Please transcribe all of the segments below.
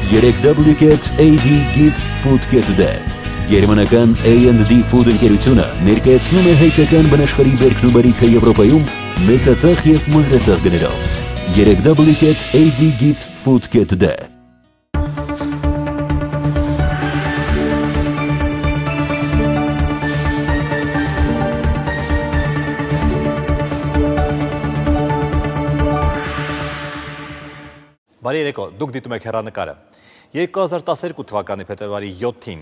3W-Cat AD Kids Food Kit-ը Գերմանական A&D Food ընկերությունը ներկայացնում է հայկական բնաշխարհի բերքն ու բարիքը Եվրոպայում մեծածախ եւ մանրածախ գներով 3W-Cat AD Kids Food Kit-ը Բարի երեկո, դուք դիտում եք հեռանկարը։ 2012 թվականի փետրվարի 7-ին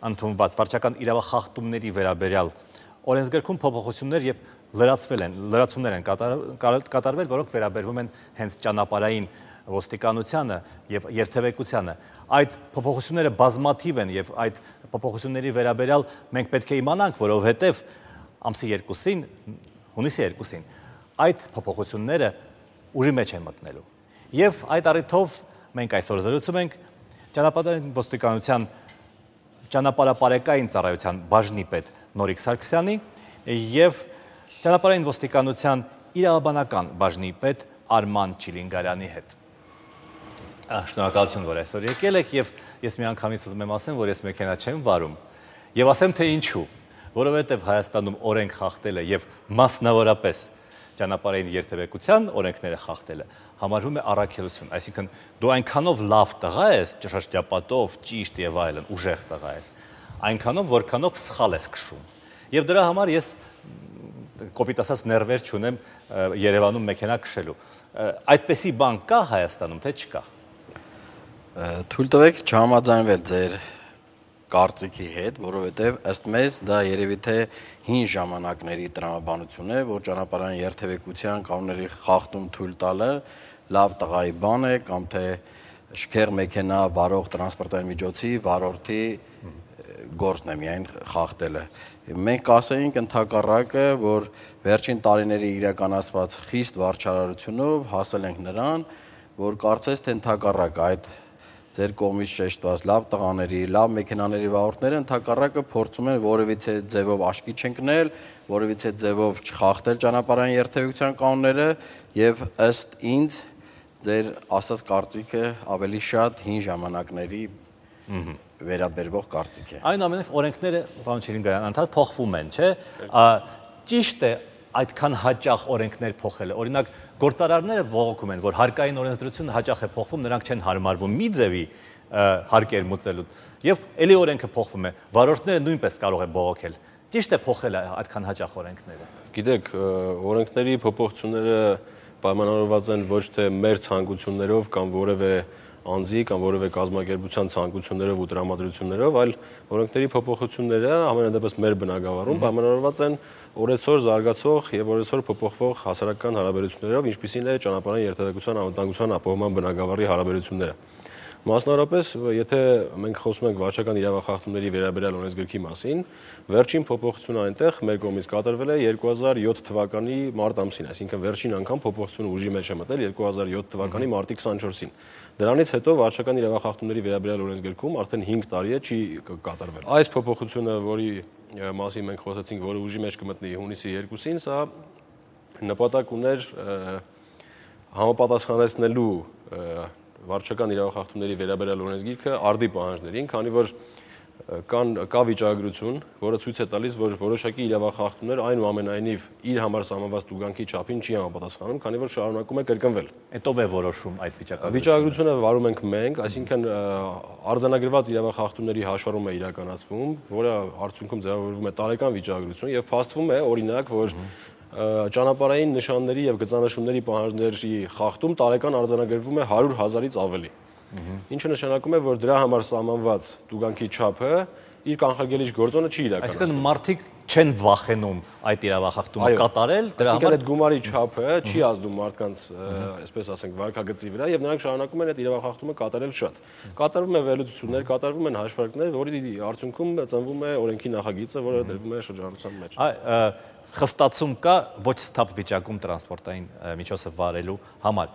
ընդունված վարչական իրավախախտումների վերաբերյալ օրենսգրքում փոփոխություններ եւ լրացումներ են կատարվել, որոնք վերաբերվում են հենց ճանապարհային ոստիկանությանը եւ երթևեկությանը։ Այդ փոփոխությունները բազմաթիվ են եւ այդ փոփոխությունների վերաբերյալ մենք պետք է իմանանք, որովհետեւ ամսի 2-ին, հունիսի 2-ին այդ փոփոխությունները ուժի մեջ են մտնելու։ Եվ այդ առիթով մենք այսօր զրուցում ենք ճանապարհային ոստիկանության ճանապարհապարեկային ծառայության բաժնի պետ Նորիկ Սարգսյանի եւ ճանապարհային ոստիկանության իրավաբանական բաժնի պետ Արման Չիլինգարյանի հետ։ Շնորհակալություն, որ այսօր եկել եք եւ ես մի անգամից ուզում եմ ասեմ, որ ես մեքենա չեմ վարում եւ ասեմ թե ինչու, որովհետեւ Հայաստանում օրենք խախտելը եւ մասնավորապես ճանապարհային երթևեկության օրենքները խախտելը համարվում է առաքելություն, այսինքն դու այնքանով լավ տղա ես, ճշտապատով, ճիշտ եւ այլն, ուժեղ տղա ես, այնքանով որքանով սխալ ես քշում։ Եվ դրա համար ես կոպիտ ասած ներվեր չունեմ Երևանում մեքենա քշելու։ Այդպեսի բան կա Հայաստանում, թե չկա։ Թույլ տվեք չհամաձայնվել ձեր կարծիքի հետ, որովհետև ըստ մեզ դա երևի թե հին ժամանակների տրամաբանություն է, որ ճանապարհային երթևեկության կանոնների խախտում թույլ տալը լավ տղայի բան է կամ թե շքեղ մեքենա վարող տրանսպորտային միջոցի վարորդի գործն է միայն խախտելը։ Մենք կասեինք ընդհակառակը, որ վերջին տարիների իրականացված խիստ վարչարարությունով հասել ենք նրան, որ կարծես թե ընդհակառակ այդ ձեր կողմից շեշտված լավ տղաների, լավ մեքենաների վարորդները ընդհակառակը փորձում են որևիցե ձևով աշկի չընկնել, որևիցե ձևով չխախտել ճանապարհային երթևեկության կանոնները եւ ըստ ինձ ձեր ասած կարծիքը ավելի շատ հին ժամանակների վերաբերվող կարծիք է։ Այնուամենայնիվ օրենքները, պարոն Չիլինգարյան, անդադ փոխվում են, չէ՞։ Ճիշտ է այդքան հաճախ օրենքներ փոխելը։ Օրինակ գործարարները բողոքում են, որ հարկային օրենսդրությունը հաճախ է փոխվում, նրանք չեն հարմարվում մի ձևի հարկեր մուծելու։ Եվ ելի օրենքը փոխվում է, վարորդները նույնպես կարող է բողոքել։ Ճիշտ է փոխել այդքան հաճախ օրենքները։ Գիտեք, օրենքների փոփոխությունները պայմանավորված են ոչ թե մեր ցանկություններով կամ որևէ անձի կամ որևէ կազմակերպության ցանկություններով ու տրամադրություններով, այլ օրենքների փոփոխությունները ամենադեպս մեր բնագավառում պայմանավորված են օրեցօր զարգացող եւ օրեցօր փոփոխվող հասարակական հարաբերություններով, ինչպիսին է ճանապարհային երթևեկության անվտանգության ապահովման բնագավառի հարաբերությունները։ Մասնավորապես, եթե մենք խոսում ենք վարչական իրավախախտումների վերաբերյալ օրենսգրքի մասին, վերջին փոփոխությունը այնտեղ մեր կողմից կատարվել է 2007 թվականի մարտ ամսին, այսինքն վերջին անգամ փոփոխությունը ուժի մեջ է մտել 2007 թվականի մարտի 24-ին։ Դրանից հետո վարչական իրավախախտումների վերաբերյալ օրենսգրքում արդեն 5 տարի է չի կատարվել։ Այս փոփոխությունը, որի մասին մենք խոսեցինք, որը ուժի մեջ կմտնի հունիսի 2-ին, սա նպատակ ուներ համապատասխանեցնելու վարչական իրավախախտումների վերաբերյալ օրենսգիրքը արդի պահանջներին, քանի որ կա վիճակագրություն, որը ցույց է տալիս, որ որոշակի իրավախախտումներ այնուամենայնիվ իր համար սահմանված տուգանքի չափին չի համապատասխանում, քանի որ շարունակում է կրկնվել։ Այդ ով է որոշում այդ վիճակագրությունը։ Վիճակագրությունը վարում ենք մենք, այսինքն արձանագրված իրավախախտումների հաշվառում է իրականացվում, որը արդյունքում ձևավորվում է տարեկան վիճակագրություն եւ փաստվում է, օրինակ, որ ճանապարհային նշանների եւ գծանշումների պահանջների խախտում տարեկան արձանագրվում է 100,000-ից ավելի։ Ինչը նշանակում է, որ դրա համար սահմանված տուգանքի չափը իր կանխարգելիչ գործոնը չի իրականացնում։ Այսինքն մարդիկ չեն վախենում այդ իրավախախտումը կատարել, դրա համար այդ գումարի չափը չի ազդում մարդկանց, այսպես ասենք, վարքագծի վրա եւ նրանք շարունակում են այդ իրավախախտումը կատարել շատ։ Կատարվում է վերլուծություններ, կատարվում են հաշվարկներ, որի արդյունքում ծնվում է օրենքի նախագիծը, որը դրվում է շրջանառության մեջ։ Խստացում կա ոչ սթափ վիճակում տրանսպորտային միջոցը վարելու համար։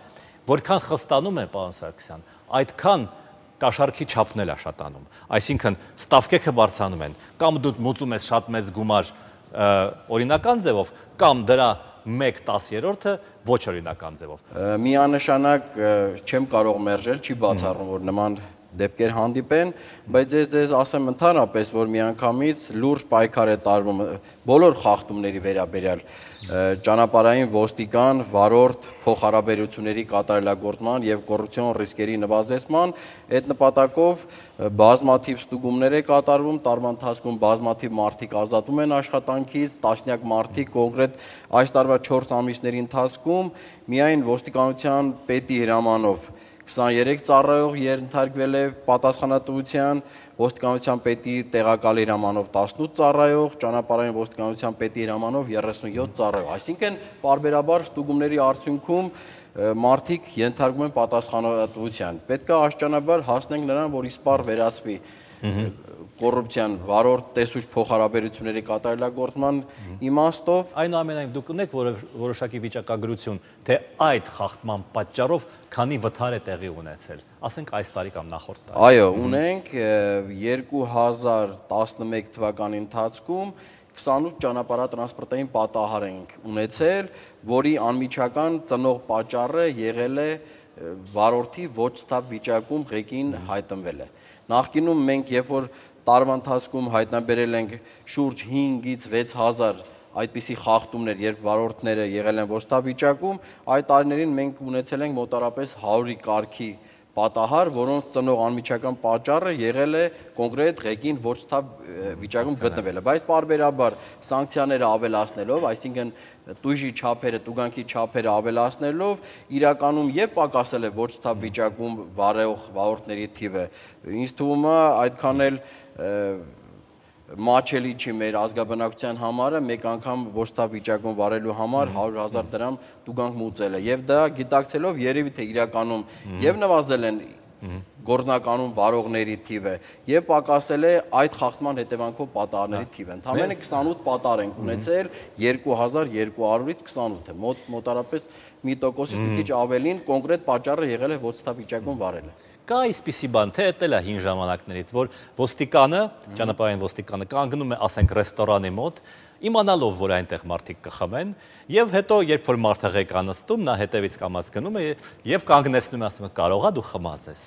Որքան խստանում է, պարոն Սարգսյան, այդքան կաշառքի չափն էլ է շատանում։ Այսինքն ստավկեքը բարձրանում են, կամ դու մուծում ես շատ մեծ գումար օրինական ձևով, կամ դրա 1/10-ը ոչ օրինական ձևով։ Միանշանակ չեմ կարող մերժել, չի բացառում, որ նման դեպքեր հանդիպեն, բայց ես ասեմ ընդհանրապես, որ միանգամից լուրջ պայքար է տարվում բոլոր խախտումների վերաբերյալ ճանապարհային ոստիկան, վարորդ փոխհարաբերությունների կատարելագործման եւ կոռուպցիոն ռիսկերի նվազեցման, այդ նպատակով բազմաթիվ ստուգումներ է կատարվում, տարվա ընթացքում բազմաթիվ մարդիկ ազատում են աշխատանքից, տասնյակ մարդիկ կոնկրետ այս տարվա 4 ամիսների ընթացքում միայն ոստիկանության պետի հրամանով 23 ծառայող ենթարկվել է պատասխանատվության, ոստիկանության պետի տեղակալի հրամանով 18 ծառայող, ճանապարհային ոստիկանության պետի հրամանով 37 ծառայող։ Այսինքն պարբերաբար ստուգումների արդյունքում մարդիկ ենթարկվում են պատասխանատվության։ Պետք է աշճանաբար հասնենք նրան, որ իսպառ վերացվի կոռուպցիան վարորդ տեսուչ փոխհարաբերությունների կատարելագործման իմաստով։ Այնուամենայնիվ դուք ունեք որոշակի վիճակագրություն, թե այդ խախտման պատճառով քանի վթար է տեղի ունեցել, ասենք այս տարի կամ նախորդ տարի։ Այո, ունենք 2011 թվականի ընթացքում 28 ճանապարհատրանսպորտային պատահար ենք ունեցել, որի անմիջական ծնող պատճառը եղել է վարորդի ոչ սթափ վիճակում ղեկին հայտնվել է։ Նախկինում մենք երբ որ տարվա ընթացքում հայտնաբերել ենք շուրջ 5-ից 6000 այդպիսի խախտումներ, երբ վարորդները եղել են ոչ սթափ վիճակում, այդ տարիներին մենք ունեցել ենք մոտարապես 100-ի կարգի պատահար, որոնց ծնող անմիջական պատճառը եղել է կոնկրետ ղեկին ոչ սթափ վիճակում գտնվելը, բայց պարբերաբար սանկցիաները ավելացնելով, այսինքն տույժի չափերը, տուգանքի չափերը ավելացնելով, իրականում երբ պակասել է ոչ սթափ վիճակում վարող վարորդների թիվը, ինձ թվում է այդքան էլ մաչելի չի մեր ազգաբնակության համարը մեկ անգամ ոչ սթափ վիճակում վարելու համար 100,000 դրամ տուգանք մուծելը եւ դա գիտակցելով երևի թե իրականում եւ նվազել են գործնականուն վարողների թիվը եւ պակասել է այդ խախտման հետևանքով պատահարների թիվը։ Ընդամենը 28 պատահար ենք ունեցել 2200-ից 28-ը մոտարապես 1%-ից մի քիչ ավելին կոնկրետ պատճառը եղել է ոչ սթափ վիճակում վարելը։ Կա այսպիսի բան, թե էտել է հին ժամանակներից, որ ոստիկանը, ճանապարհային ոստիկանը կանգնում է, ասենք, ռեստորանի մոտ, իմանալով, որ այնտեղ մարդիկ կխմեն, եւ հետո, երբ որ մարդը ղեկ անստում, նա հետևից կամած գնում է եւ կանգնեցնում է, ասում է, կարողա դու խմած ես։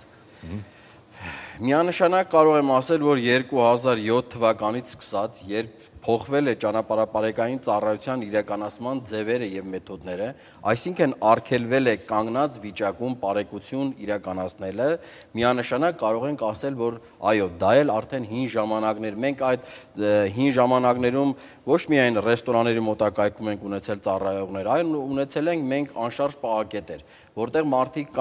Միանշանակ կարող եմ ասել, որ 2007 թվականից սկսած, երբ փոխվել է ճանապարհապարեկային ծառայության իրականացման ձևերը եւ մեթոդները, այսինքն արգելվել է կանգնած վիճակում բարեկություն իրականացնելը, միանշանակ կարող ենք ասել, որ այո, դա էլ արդեն հին ժամանակներ։ Մենք այդ հին ժամանակներում ոչ միայն ռեստորանների մոտակայքում ենք ունեցել ծառայողներ, այլ ունեցել ենք մենք անշարժ պահակետեր, որտեղ մարդիկ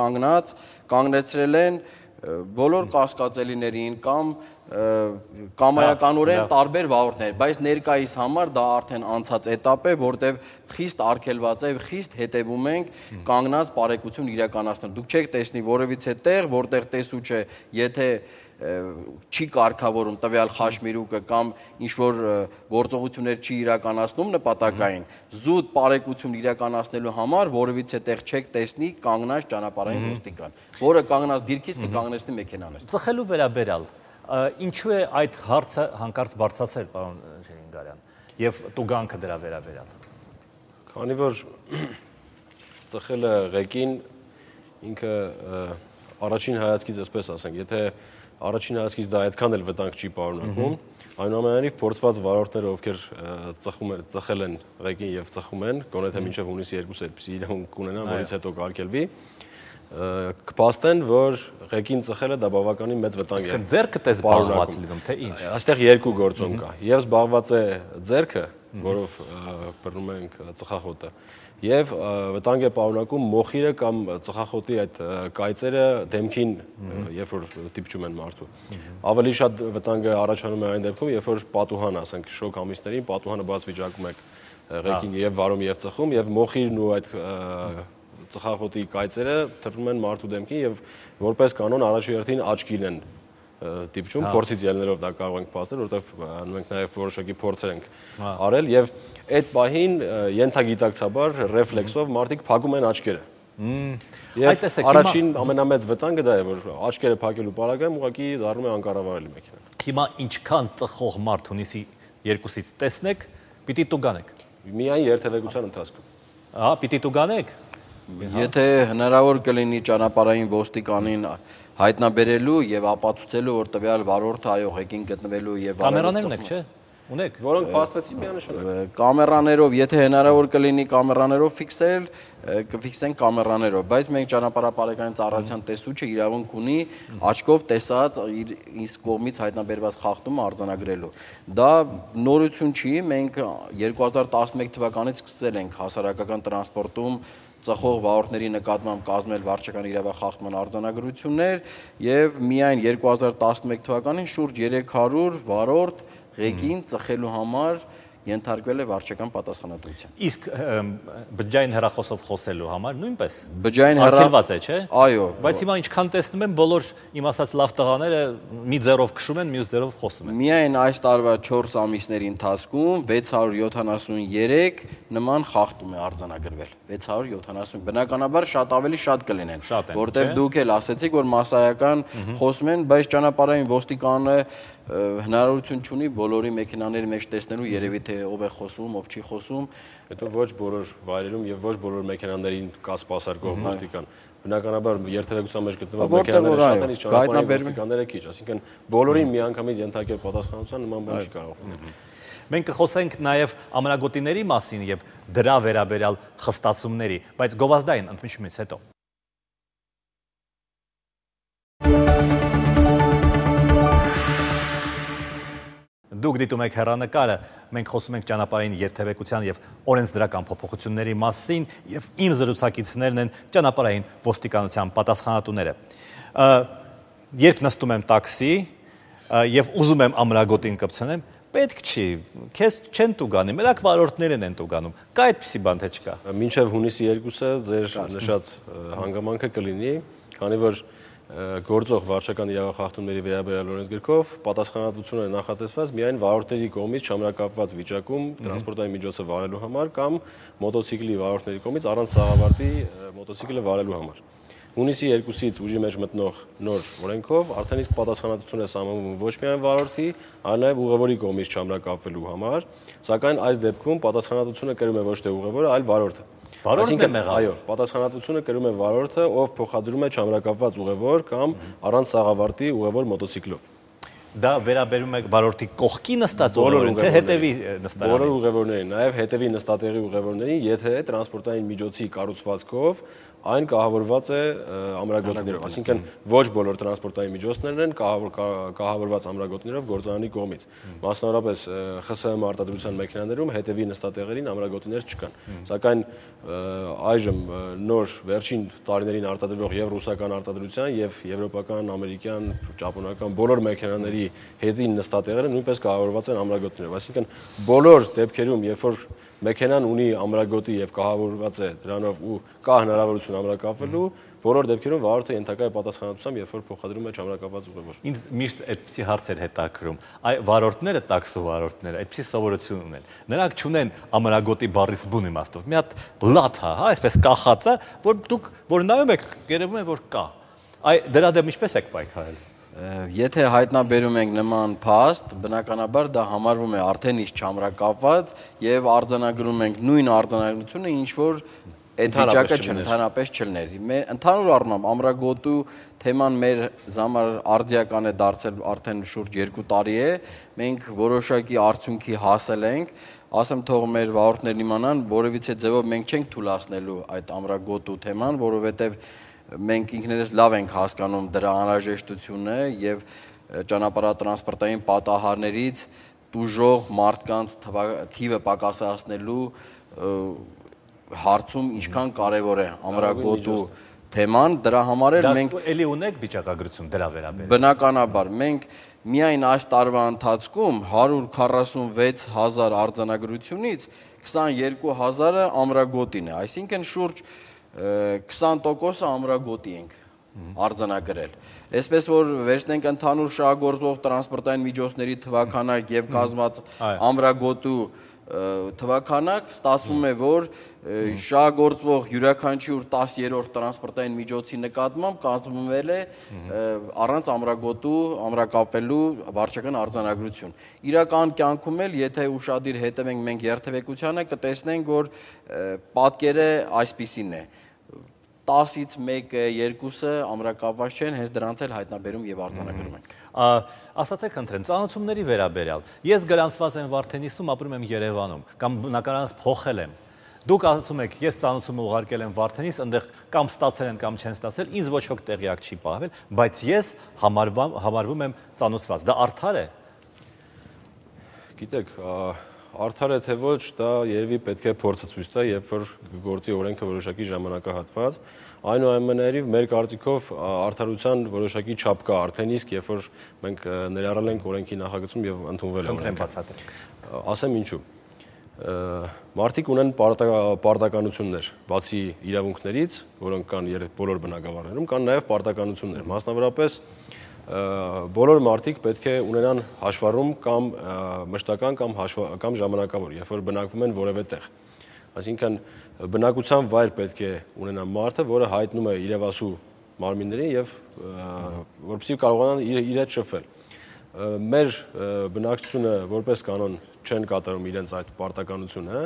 կանգնեցրել են բոլոր կասկածելիներին կամ կամայականորեն տարբեր վարորդներ, բայց ներկայիս համար դա արդեն անցած էտապ է, որտեղ խիստ արգելված է, խիստ հետևում ենք կանգնած բարեկություն իրականացնել։ Դուք չեք տեսնի որևիցե տեղ, որտեղ տեսուչը, եթե չի կարգավորում տվյալ խաշմիրուկը կամ ինչ-որ գործողություններ չի իրականացնում նպատակային, զուտ բարեկություն իրականացնելու համար որևիցե տեղ չեք տեսնի կանգնած ճանապարհային ոստիկան, որը կանգնած դիրքից կկանգնեցնի մեքենաներ։ Ծխելու վերաբերյալ ինչու է այդ հարցը հանկարծ բարձրացել, պարոն Շիրինգարյան, եւ տուգանքը դրա վերաբերյալ։ Քանի որ ծխելը ղեկին ինքը առաջին հայացքից այսպես ասենք, եթե առաջին հայացքից դա այդքան էլ վտանգ չի պարունակում, այնուամենայնիվ փորձված վարորդները, ովքեր ծխել են ղեկին եւ ծխում են, գոնե թե մինչեւ հունիսի 2-ը այդպիսի իրավունք կունենան, որից հետո կարգելվի, կփաստեն, որ ղեկին ծխելը դա բավականին մեծ վտանգ է։ Ձեռքդ է զբաղված լինում, թե ինչ։ Այստեղ երկու գործոն կա։ Եվ զբաղված է ձեռքը, որով բռնում ենք ծխախոտը, եւ վտանգ է պարունակում մոխիրը կամ ծխախոտի այդ կայծերը դեմքին, երբ որ դիպչում են մարդու։ Ավելի շատ վտանգը առաջանում է այն դեպքում, երբ որ պատուհան, ասենք, շոկ ամիսներին պատուհանը բաց վիճակում եք ղեկին եւ վարում եւ ծխում եւ մոխիրն ու այդ ծխախոտի կայծերը թռնում են մարդու դեմքին եւ որպես կանոն առաջի հերթին աչքին են դիպչում, փորձից ելնելով դա կարող ենք փաստել, որովհետեւ մենք նաեւ որոշակի փորձեր ենք արել եւ այդ պահին ենթագիտակցաբար ռեֆլեքսով մարդիկ փակում են աչքերը։ Եվ առաջին ամենամեծ վտանգը դա է, որ աչքերը փակելու պարագայում ուղղակի դառնում է անկառավարելի մեքենան։ Հիմա ինչքան ծխող մարդ հունիսի 2-ից տեսնեք, պիտի տուգանեք։ Միայն երթևեկության ընթացքում։ Ահա, պիտի տուգանեք։ Եթե հնարավոր կլինի ճանապարհային ոստիկանին հայտնաբերելու եւ ապացուցելու, որ տվյալ վարորդը այո ղեկին գտնվելու եւ Կամերաներ ունեք, չէ՞։ Ունեք։ Որոնք փաստվեցին միանշանակ։ Կամերաներով, եթե հնարավոր կլինի կամերաներով ֆիքսել, կֆիքսեն կամերաներով, բայց մենք ճանապարհապարեկային ծառայության տեսուչը իրավունք ունի աչքով տեսած իր կողմից հայտնաբերված խախտումը արձանագրելու։ Դա նորություն չի, մենք 2011 թվականից սկսել ենք հասարակական տրանսպորտում ծխող վարորդների նկատմամբ կազմել վարչական իրավախախտման արձանագրություններ եւ միայն 2011 թվականին շուրջ 300 վարորդ ղեկին ծխելու համար ենթարկվել է վարչական պատասխանատվության։ Իսկ բջջային հեռախոսով խոսելու համար նույնպես բջջային արգելված է, չէ՞։ Այո։ Բայց հիմա ինչքան տեսնում եմ, բոլոր իմ ասած լավ տղաները մի ձեռով քշում են, մյուս ձեռով խոսում են։ Միայն այս տարվա 4 ամիսների ընթացքում 673 նման խախտում է արձանագրվել։ 670 բնականաբար շատ կլինեն, որտեղ դուք էլ ասեցիք, որ մասսայական խոսում են, բայց ճանապարհային ոստիկանը հնարավորություն չունի բոլորի մեքենաների մեջ տեսնելու երևի թե ով է խոսում, ով չի խոսում, հետո ոչ բոլոր վայրերում եւ ոչ բոլոր մեքենաներին կա սպասարկող ոստիկան։ Բնականաբար երթևեկության մեջ գտնվող մեքենաները շատ են, իսկ ճանապարհային ոստիկանները քիչ, այսինքն բոլորին միանգամից ենթարկել պատասխանատվության նման բան չի կարող։ Մենք կխոսենք նաև ամենագոտիների մասին եւ դրա վերաբերյալ խստացումների, բայց գովազդային ընդմիջումից հետո։ Դուք դիտում եք հեռանկարը, մենք խոսում ենք ճանապարհային երթևեկության եւ օրենսդրական փոփոխությունների մասին եւ իմ զրուցակիցներն են ճանապարհային ոստիկանության պատասխանատուները։ Երբ նստում եմ տաքսի եւ ուզում եմ ամրագոտին կպցնեմ, պետք չի, քեզ չեն տուգանի, մենակ վարորդներն են տուգանում։ Կա այդպիսի բան թե չկա։ Մինչև հունիսի 2-ը ձեր նշած հանգամանքը կլինի, քանի որ գործող վարչական իրավախախտումների վերաբերյալ օրենսգրքով պատասխանատվությունը նախատեսված միայն վարորդների կողմից չամրակապված վիճակում տրանսպորտային միջոցը վարելու համար կամ մոտոցիկլի վարորդների կողմից առանց սաղավարտի մոտոցիկլը վարելու համար։ Հունիսի 2-ից ուժի մեջ մտնող նոր օրենքով արդեն իսկ պատասխանատվություն է սահմանվում ոչ միայն վարորդի, այլ նաև ուղևորի կողմից չամրակապվելու համար, սակայն այս դեպքում պատասխանատվությունը կրում է ոչ թե ուղևորը, այլ վարորդը։ Վարորդն է մեղավոր։ Այո, պատասխանատվությունը կրում է վարորդը, ով փոխադրում է չամրակապված ուղևոր կամ առանց սաղավարտի ուղևոր մոտոցիկլով։ Դա վերաբերում է վարորդի կողքի նստած ուղևորին, թե հետևի նստարանին։ Բոլոր ուղևորներին, նաև հետևի նստատեղի ուղևորներին, եթե տրանսպորտային միջոցի կառուցվածքով այն կահավորված է ամրագոտիներով, այսինքն ոչ բոլոր տրանսպորտային միջոցներն են կահավորված ամրագոտիներով գործարանի կողմից։ Մասնավորապես ԽՍՀՄ արտադրության մեքենաներում հետևի նստատեղերին ամրագոտիներ չկան։ Սակայն այժմ նոր վերջին տարիներին արտադրվող եւ ռուսական արտադրության եւ եվրոպական, ամերիկյան, ճապոնական բոլոր մեքենաների հետին նստատեղերը նույնպես կահավորված են ամրագոտիներով, այսինքն բոլոր դեպքերում, երբ որ մեքենան ունի ամրագոտի եւ կահավորված է դրանով ու կա հնարավորություն ամրակապվելու, բոլոր դեպքերում վարորդը ենթակա է պատասխանատվությամբ, երբ որ փոխադրում է չամրակապված ուղևոր։ Ինձ միշտ այդպիսի հարցեր հետաքրում։ Այ վարորդները, տաքսու վարորդները այդպիսի սովորություն ունեն։ Նրանք չունեն ամրագոտի բառից բուն իմաստով։ Մի հատ լաթա, հա, այսպես կախած է, որ դուք որ նայում եք, երևում է որ կա։ Այ դրա դեմ ինչպես եք պայքարել։ Եթե հայտնաբերում ենք նման փաստ, բնականաբար դա համարվում է արդեն իսկ չամրակապված եւ արձանագրում ենք նույն արձանագրությունը, ինչ որ այդ վիճակը ընդհանրապես չլներ։ Ընդհանուր առմամբ ամրագոտու թեման մեր համար արդիական է դարձել արդեն շուրջ 2 տարի է։ Մենք որոշակի արդյունքի հասել ենք, ասեմ թող մեր վարորդներն իմանան, որևիցե ձևով մենք չենք թույլատնելու այդ ամրագոտու թեման, որովհետեւ մենք ինքներս լավ ենք հասկանում դրա անհրաժեշտությունը եւ ճանապարհատրանսպորտային պատահարներից տուժող մարդկանց թիվը պակասացնելու հարցում ինչքան կարեւոր է ամրագոտու թեման, դրա համար էլ մենք էլի ունեք վիճակագրություն դրա վերաբերյալ։ Բնականաբար մենք միայն այս տարվա ընթացքում 146,000 արձանագրությունից 22,000-ը ամրագոտին է, այսինքն շուրջ 20% ամրագոտի ենք արձանագրել։ Այսպես որ վերցնենք ընդհանուր շահագործվող տրանսպորտային միջոցների թվաքանակ եւ կազմած ամրագոտու թվաքանակ, ստացվում է որ շահագործվող յուրաքանչյուր 10-րդ տրանսպորտային միջոցի նկատմամբ կազմվել է առանց ամրագոտու ամրակապվելու վարչական արձանագրություն։ Իրական կյանքում էլ եթե ուշադիր հետևենք մենք երթևեկությանը, կտեսնենք որ պատկերը այսպիսին է։ 10-ից 1-ը, 2-ը ամրակապված չեն, հենց դրանց էլ հայտնաբերում եւ արձանագրում ենք։ Ասացեք ընտրեմ, ծանոթությունների վերաբերյալ։ Ես գրանցված եմ Վարդենիսում, ապրում եմ Երևանում, կամ բնականաբար փոխել եմ։ Դուք ասում եք, ես ծանոթությունը ուղարկել եմ Վարդենիս, այնտեղ կամ ստացել են կամ չեն ստացել, ինձ ոչ ոք տեղյակ չի պահվել, բայց ես համարվում եմ ծանոթված։ Դա արդար է։ Գիտեք, արդար է թե ոչ, դա երևի պետք է փորձը ցույց տա, երբ որ գործի օրենքը որոշակի ժամանակահատված, այնուամենայնիվ մեր կարծիքով արդարության որոշակի չափ կա արդեն իսկ, երբ որ մենք ներառել ենք օրենքի նախագծում եւ ընդունվել է օրենքը։ Բացատրեք։ Ասեմ ինչու։ Մարդիկ ունեն պարտականություններ, բացի իրավունքներից, որոնք կան բոլոր բնակավարներում, կան նաև պարտականություններ։ Մասնավորապես բոլոր մարդիկ պետք է ունենան հաշվառում կամ մշտական կամ ժամանակավոր, երբ որ բնակվում են որևէ տեղ։ Այսինքն բնակության վայր պետք է ունենա մարդը, որը հայտնում է իրավասու մարմիններին եւ որպեսզի կարողանան իր հետ շփվել։ Մեր բնակչությունը որպես կանոն չեն կատարում իրենց այդ պարտականությունը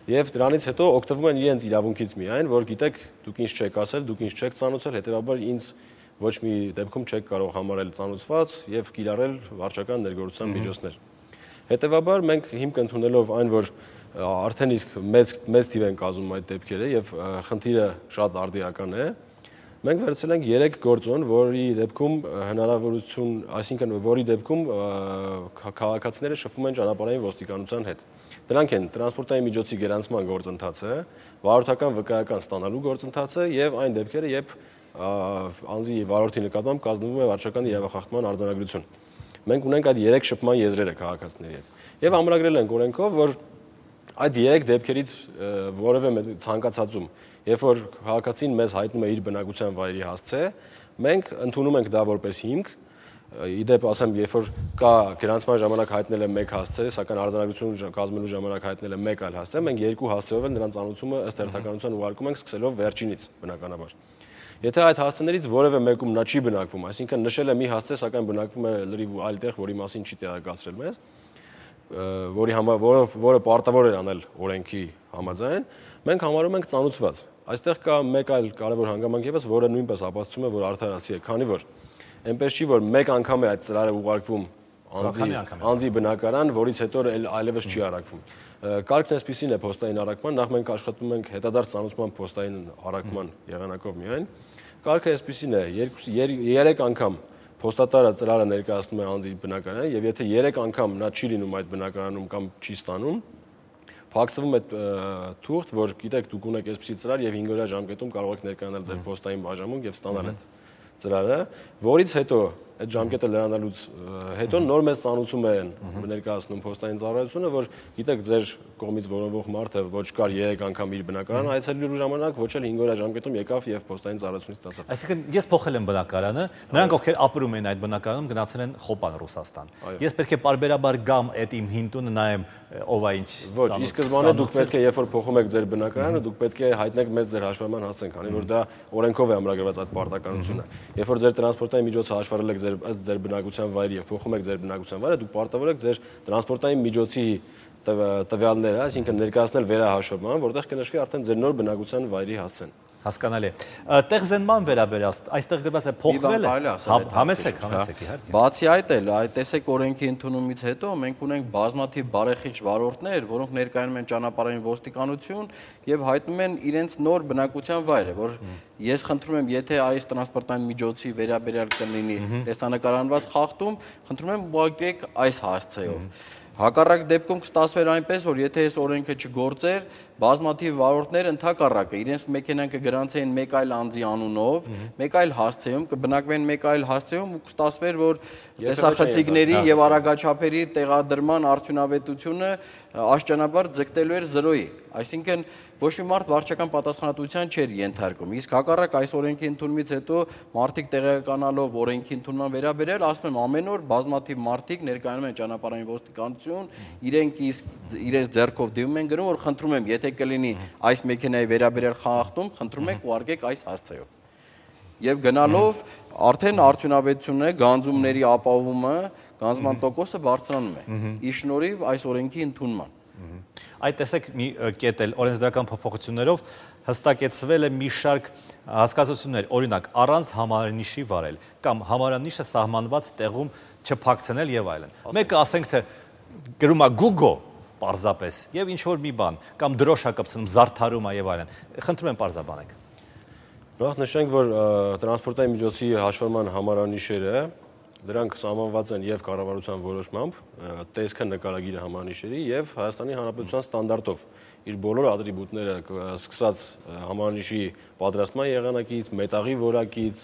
եւ դրանից հետո օգտվում են իրենց իրավունքից միայն, որ գիտեք, դուք ինձ չեք ասել, դուք ինձ չեք ծանոթացել, հետեւաբար ինձ ոչ մի դեպքում չեք կարող համարել ծանոթված եւ կիրառել վարչական ներգործության միջոցներ։ Հետեւաբար մենք հիմք ընդունելով այն, որ արդեն իսկ մեծ թիվ են կազմում այդ դեպքերը եւ խնդիրը շատ արդիական է, մենք վերցրել ենք 3 գործոն, որի դեպքում հնարավորություն, այսինքն որի դեպքում քաղաքացիները շփվում են ճանապարհային ոստիկանության հետ։ Դրանք են տրանսպորտային միջոցի գրանցման գործընթացը, վարորդական վկայական ստանալու գործընթացը եւ այն դեպքերը, երբ անձի վարորդի նկատմամբ կազմվում է վարչական իրավախախտման արձանագրություն։ Մենք ունենք այդ 3 շփման եզրերը քաղաքացիների հետ։ Եվ ամրագրել ենք օրենքով, որ այդ 3 դեպքերից որևէ ցանկացածում, երբ որ քաղաքացին մեզ հայտնում է իր բնակության վայրի հասցե, մենք ընդունում ենք դա որպես հիմք, իդեպ ասեմ, երբ որ կա գրանցման ժամանակ հայտնել է 1 հասցե, սակայն արձանագրություն կազմելու ժամանակ հայտնել է 1 այլ հասցե, մենք 2 հասցեով էլ նրանց անունումը ըստ հերթականության ուղարկում ենք սկսելով վերջինից, բնականաբար։ Եթե այդ հասցեներից որևէ մեկում նա չի բնակվում, այսինքն նշել է մի հասցե, սակայն բնակվում է լրիվ այլ տեղ, որի մասին չի տեղեկացրել մեզ, որը պարտավոր է անել օրենքի համաձայն, մենք համարում ենք ծանոթված։ Այստեղ կա մեկ այլ կարևոր հանգամանք եւս, որը նույնպես ապացուցում է, որ արդարացի է, քանի որ այնպես չի, որ մեկ անգամ է այդ ծրարը ուղարկվում անձի բնակարան, որից հետո այլևս չի առաքվում։ Կարգն այսպիսին է փոստային առաքման, նախ մենք աշխատում ենք հետադարձ ծանոթման փոստային առաքման եղանակով միայն։ Կարգը այսպիսին է, 3 անգամ փոստատարը ծրարը ներկայացնում է անձի բնակարանը եւ եթե 3 անգամ նա չի լինում այդ բնակարանում կամ չի ստանում, փակսվում է թուղթ, որ գիտեք դուք ունեք այսպիսի ծրար եւ 5 օրյա ժամկետում կարող եք ներկայանալ ձեր փոստային բաժանմունք եւ ստանալ այդ ծրարը, որից հետո այդ ժամկետը լրանալուց հետո նոր մեծ ծանուցում են ներկայացնում փոստային ծառայությունը, որ գիտեք ձեր կողմից որոնվող մարդը ոչ կար 3 անգամ իր բնակարան այցելելու ժամանակ, ոչ էլ 5 օրյա ժամկետում եկավ եւ փոստային ծառայությունից ստացավ։ Այսինքն ես փոխել եմ բնակարանը, նրանք ովքեր ապրում են այդ բնակարանում գնացել են Խոպան Ռուսաստան։ Ես պետք է պարբերաբար գամ այդ իմ հին տունը նայեմ ով է ինչ։ Ոչ, ի սկզբանե դուք պետք է երբ որ փոխում եք ձեր բնակարանը, դուք պետք է հայտնեք մեծ ձեր հաշվառման հասցեն, քանի որ դա օրենքով է ամրագրված այդ պարտականությունը։ Երբ որ ձեր տրանսպորտային միջոցը հաշվառել եք ձեր բնակության վայրի եւ փոխում եք ձեր բնակության վայրը, դուք պարտավոր եք ձեր տրանսպորտային միջոցի տվյալները, այսինքն ներկայացնել վերահաշվման, որտեղ կնշվի արդեն ձեր նոր բնակության վայրի հասցեն։ Հասկանալի է։ Տեղզենման վերաբերյալ, այստեղ գրված է փոխվել է։ Համեցեք իհարկե։ Բացի այդ էլ, տեսեք օրենքի ընդունումից հետո մենք ունենք բազմաթիվ բարեխիղճ վարորդներ, որոնք ներկայանում են ճանապարհային ոստիկանություն եւ հայտնում են իրենց նոր բնակության վայրը, որ ես խնդրում եմ, եթե այս տրանսպորտային միջոցի վերաբերյալ կլինի տեսանկարահանված խախտում, խնդրում եմ ուղղակի այս հասցեով։ Հակառակ դեպքում կստացվեր այնպես, որ եթե այս օրենքը չգործեր, բազմաթիվ վարորդներ ընդհակառակը իրենց մեքենան կգրանցեին մեկ այլ անձի անունով, մեկ այլ հասցեում, կբնակվեն մեկ այլ հասցեում ու կստացվեր, որ տեսախցիկների եւ արագաչափերի տեղադրման արդյունավետությունը աշճանաբար ձգտելու էր 0-ի։ Այսինքն ոչ մի մարդ վարչական պատասխանատվության չէր ենթարկում։ Իսկ հակառակ այս օրենքի ընդունումից հետո մարդիկ տեղեկանալով օրենքի ընդունման վերաբերյալ, ասում եմ, ամեն օր բազմաթիվ մարդիկ ներկայանում են ճանապարհային ոստիկանություն, իրենք իրենց ձեռքով դիմում են գրում, որ խնդրում եմ, եթե կլինի այս մեքենայի վերաբերյալ խախտում, խնդրում եք ուղարկեք այս հասցեով։ Եվ գնալով արդեն արդյունավետությունն է, գանձումների ապահովումը, գանձման տոկոսը բարձրանում է։ Ի շնորհիվ այս օրենքի ընդունման։ Այդ տեսեք մի կետ էլ օրենսդրական փոփոխություններով հստակեցվել է մի շարք հասկացություններ, օրինակ առանց համարանիշի վարել կամ համարանիշը սահմանված տեղում չփակցնել եւ այլն։ Մեկը ասենք թե գրում է Google պարզապես եւ ինչ որ մի բան կամ դրոշ է կպցնում, զարդարում է եւ այլն։ Խնդրում եմ պարզաբանեք։ Նախ նշենք, որ տրանսպորտային միջոցի հաշվառման համարանիշերը դրանք սահմանված են եւ կառավարության որոշմամբ, տեսքը նկարագիրը համարանիշերի եւ Հայաստանի Հանրապետության ստանդարտով իր բոլոր ատրիբուտները սկսած համարանիշի պատրաստման եղանակից, մետաղի որակից,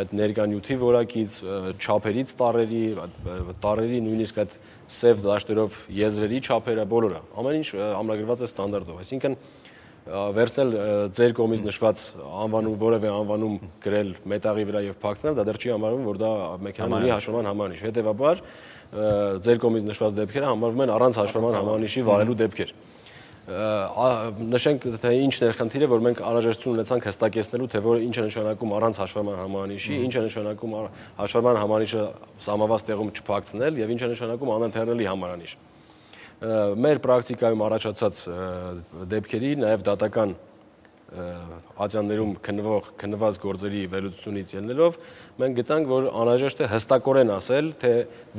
այդ ներկանյութի որակից, չափերից տարերի նույնիսկ այդ սև դաշտերով եզրերի չափերը բոլորը, ամեն ինչ ամրագրված է ստանդարտով, այսինքն վերցնել ձեր կողմից նշված անվանում, որևէ անվանում գրել մետաղի վրա եւ փակցնել, դա դեռ չի համարվում, որ դա մեքենան ունի հաշվառման համանիշ։ Հետևաբար ձեր կողմից նշված դեպքերը համարվում են առանց հաշվառման համանիշի վարելու դեպքեր։ Նշենք, թե ինչն է խնդիրը, որ մենք անհրաժեշտություն ունեցանք հստակեցնելու, թե որ ինչ է նշանակում առանց հաշվառման համանիշի, ինչ է նշանակում հաշվառման համանիշը սահմանված տեղում չփակցնել եւ ինչ է նշանակում անընթեռնելի համարանիշ։ Մեր պրակտիկայում առաջացած դեպքերի, նաև դատական ատյաններում քննված գործերի վերլուծությունից ելնելով, մենք գտանք, որ անհրաժեշտ է հստակորեն ասել, թե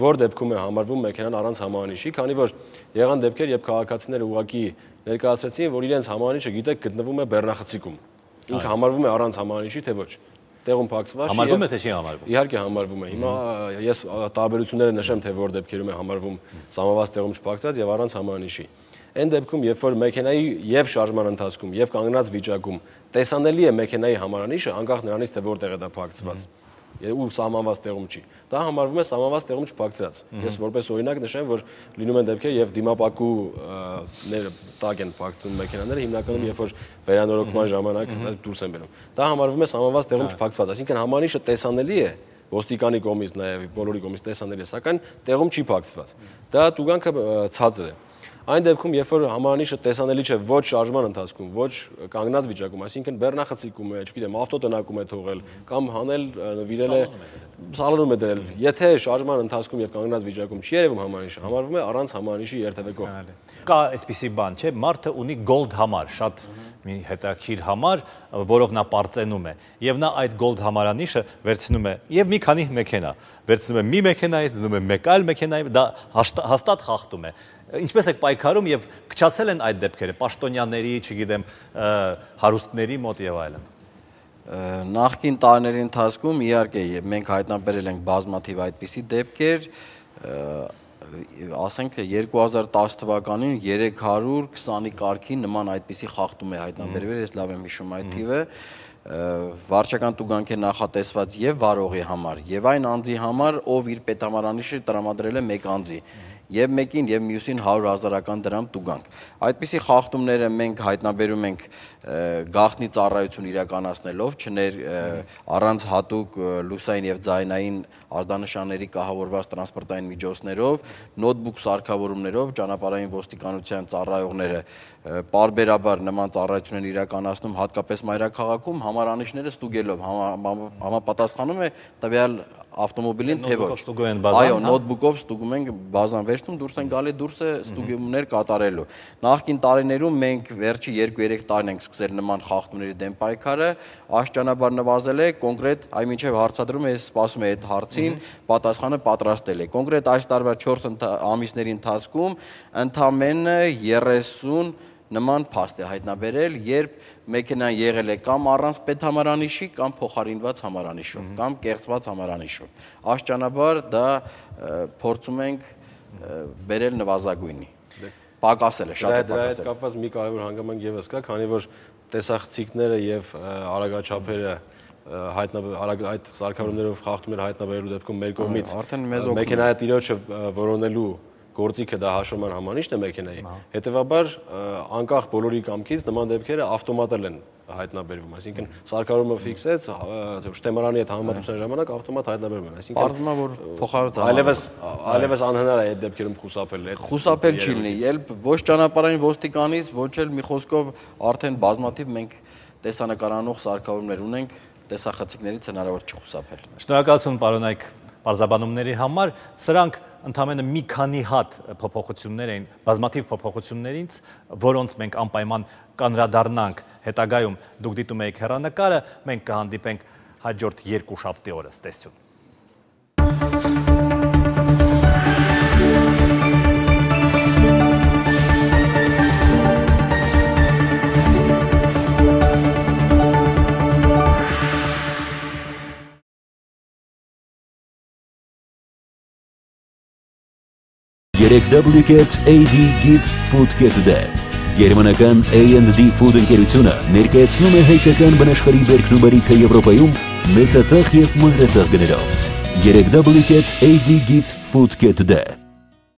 որ դեպքում է համարվում մեքենան առանց համարանիշի, քանի որ եղան դեպքեր, երբ քաղաքացիները ուղղակի ներկայացրեցին, որ իրենց համարանիշը գիտեք գտնվում է բեռնախցիկում։ Ինքը համարվում է առանց համարանիշի, թե ոչ։ Տեղում փակցված համարվում է թե չի համարվում։ Իհարկե համարվում է։ Հիմա ես տարբերությունները նշեմ, թե որ դեպքերում է համարվում սահմանված տեղում չփակցված եւ առանց համարանիշի։ Այն դեպքում, երբ որ մեքենայի եւ շարժման ընթացքում եւ կանգնած վիճակում տեսանելի է մեքենայի համարանիշը, անկախ նրանից, թե որտեղ է դա փակցված, ու սահմանված տեղում չի, դա համարվում է սահմանված տեղում չփակցված։ Ես որպես օրինակ նշեմ, որ լինում են դեպքեր եւ դիմապակու տակ են փակցվում մեքենաները, հիմնականում երբ որ վերանորոգման ժամանակ դուրս են բերում։ Դա համարվում է սահմանված տեղում չփակցված, այսինքն համարանիշը տեսանելի է ոստիկանի կողմից նաեւ բոլորի կողմից տեսանելի է, սակայն տեղում չի փակցված։ Դա տուգանքը ցածր է։ Այն դեպքում, երբ որ համարանիշը տեսանելի չէ ոչ շարժման ընթացքում, ոչ կանգնած վիճակում, այսինքն բեռնախցիկում է, չգիտեմ, ավտոտնակում է թողել կամ հանել նվիրել է սալոնում է դրել, եթե շարժման ընթացքում եւ կանգնած վիճակում չի երևում համարանիշը, համարվում է առանց համարանիշի երթևեկող։ Կա այսպիսի բան, չէ՞, մարդը ունի gold համար, շատ մի հետաքրքիր համար, որով նա պարծենում է, եւ նա այդ gold համարանիշը վերցնում է եւ մի քանի մեքենա, վերցնում է մի մեքենայից, դնում է մեկ այլ մեքենայի, դա հաստատ խախտում է։ Ինչպես եք պայքարում եւ քչացել են այդ դեպքերը պաշտոնյաների, չգիտեմ, հարուստների մոտ եւ այլն։ Նախկին տարիների ընթացքում իհարկե մենք հայտնաբերել ենք բազմաթիվ այդպիսի դեպքեր, ասենք 2010 թվականին 320-ի կարգի նման այդպիսի խախտում է հայտնաբերվել, ես լավ եմ հիշում այդ թիվը, վարչական տուգանք է նախատեսված եւ վարողի համար, եւ այն անձի համար, ով իր պետհամարանիշը տրամադրել է մեկ անձի, եւ մեկին եւ մյուսին 100,000 դրամ տուգանք։ Այդպիսի խախտումները մենք հայտնաբերում ենք գաղտնի ծառայություն իրականացնելով, առանց հատուկ լուսային եւ ձայնային ազդանշանների կահավորված տրանսպորտային միջոցներով, նոթբուք սարքավորումներով ճանապարհային ոստիկանության ծառայողները պարբերաբար նման ծառայություն են իրականացնում, հատկապես մայրաքաղաքում համարանիշները ստուգելով, համապատասխանում է տվյալ ավտոմոբիլին թե ոչ։ Այո, նոթբուքով ստուգում ենք բազան վերցնում, դուրս են գալի, դուրս է ստուգումներ կատարելու։ Նախկին տարիներում մենք վերջի 2-3 տարին ենք սկսել նման խախտումների դեմ պայքարը, աշճանաբար նվազել է, կոնկրետ այմիջև հարցադրումը ես սպասում եմ այդ հարցին, պատասխանը պատրաստել է։ Կոնկրետ այս տարվա 4 ամիսների ընթացքում ընդամենը 30 նման փաստ է հայտնաբերել, երբ մեքենան եղել է կամ առանց պետհամարանիշի, կամ փոխարինված համարանիշով, կամ կեղծված համարանիշով։ Աշճանաբար դա փորձում ենք բերել նվազագույնի։ Պակասել է, շատ է պակասել։ Դա կապված մի կարևոր հանգամանք եւս կա, քանի որ տեսախցիկները եւ արագաչափերը այդ սարքավորումներով խախտումներ հայտնաբերելու դեպքում մեր կողմից մեքենայի տիրոջը որոնելու գործիքը դա հաշվառման համանիշն է մեքենայի, հետևաբար անկախ բոլորի կամքից նման դեպքերը ավտոմատել են հայտնաբերվում, այսինքն սարքավորումը ֆիքսեց, շտեմարանի հետ համեմատության ժամանակ ավտոմատ հայտնաբերվում են, այսինքն պարզվում է, որ փոխարոտ այլևս անհնար է այդ դեպքերում խուսափել։ Խուսափել չի լինի, երբ ոչ ճանապարհային ոստիկանից, ոչ էլ մի խոսքով արդեն բազմաթիվ մենք տեսանկարանող սարքավորումներ ունենք, տեսախցիկներից հնարավոր չի խուսափել։ Շնորհակալություն, պարոն Այք, պարզաբանումների համար, սրանք ընդամենը մի քանի հատ փոփոխություններ էին, բազմաթիվ փոփոխություններից, որոնց մենք անպայման կանրադառնանք հետագայում, դուք դիտում եք հեռանկարը, մենք կհանդիպենք հաջորդ երկուշաբթի օրը, տեսություն։ AD Gits Food Get Today Գերմանական A&D Food ընկերությունը ներկայացնում է հայկական բնաշխարհի բերքնուբարիքը Եվրոպայում մեծածախ և մանրածախ գներով։ AD Gits Food Get Today